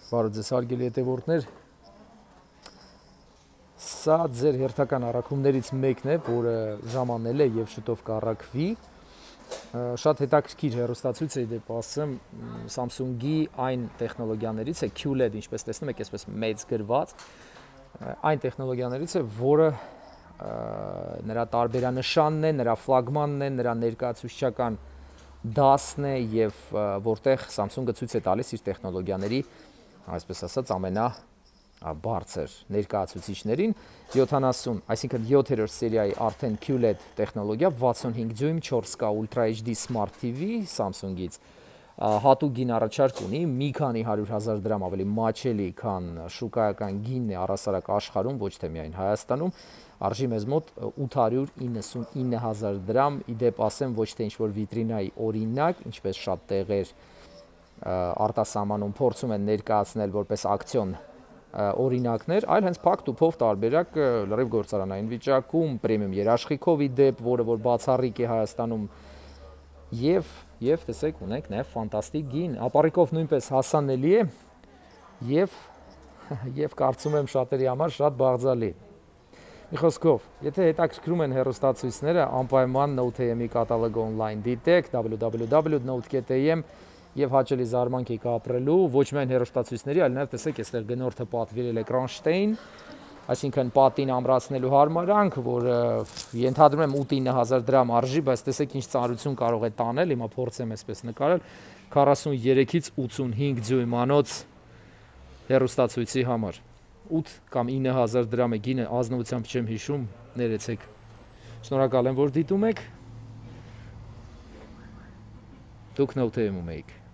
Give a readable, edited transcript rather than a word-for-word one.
Բարև ձեզ հարգելի հետևորդներ, սա ձեր հերթական առաքումներից մեկն է, որը ժամանել է և շուտով կառաքվի, շատ հետաքրքիր հեռուստացույց է դեպ ասեմ Samsung-ի այն տեխնոլոգիաներից է QLED, ինչպես տեսնում եք, այսպես մեծ գրված, այն տեխնոլոգիաներից է, որը նրա տարբերանշանն է, նրա ֆլագմանն է, նրա ներկայացուցչական դասն է և որտեղ Samsung-ը ցույց է տալիս իր տեխնոլոգիաների, այսպես ասած, ամենաբարձր ներկայացուցիչներին 70, այսինքն 7-րդ սերիայի արդեն QLED տեխնոլոգիա 65 դյույմ 4K Ultra HD Smart TV Samsung-ից հատուկ գին առաջարկ ունի, մի քանի 100,000 դրամ ավելի մաչելի, քան շուկայական գինն է առհասարակ աշխարհում, ոչ թե միայն Հայաստանում, արժի մեզ մոտ 899,000 դրամ, իդեպ ասեմ ոչ թե ինչ-որ վիտրինայի օրինակ, ինչպես շատ տեղեր արտասահմանում փորձում են ներկայացնել որպես ակցիոն օրինակներ, այլ հենց փակ տուփով տարբերակ լրիվ գործարանային վիճակում, պրեմիում երաշխիքով իդեպ, որը որ բացառիկ է Հայաստանում եւ տեսեք ունենք նաեւ ֆանտաստիկ գին, ապառիկով նույնպես հասանելի է եւ կարծում եմ շատերի համար շատ բաղձալի։ Մի խոսքով, եթե հետաքրքրում են հեռուստացույցները, անպայման Note-am-ի կատալոգը on-line դիտեք www.note.am եւ հաճելի զարմանք եք ապրելու ոչ միայն հեռուստացույցների, այլ նաեւ տեսեք, այստեղ գնորդը պատվիրել է կրանշտեյն, այսինքն պատին ամրացնելու հարմարանք, որը ենթադրում եմ 8-9,000 դրամ արժի, բայց տեսեք ինչ ծանրություն կարող է տանել, հիմա փորձեմ այսպես նկարել 43-ից 85 դյույմանոց հեռուստացույցի համար 8 կամ 9,000 դրամ է գինը, ազնվությամբ չեմ հիշում, ներեցեք։ Շնորհակալ եմ, որ դիտում եք։ Դուք Note-am-ում եք։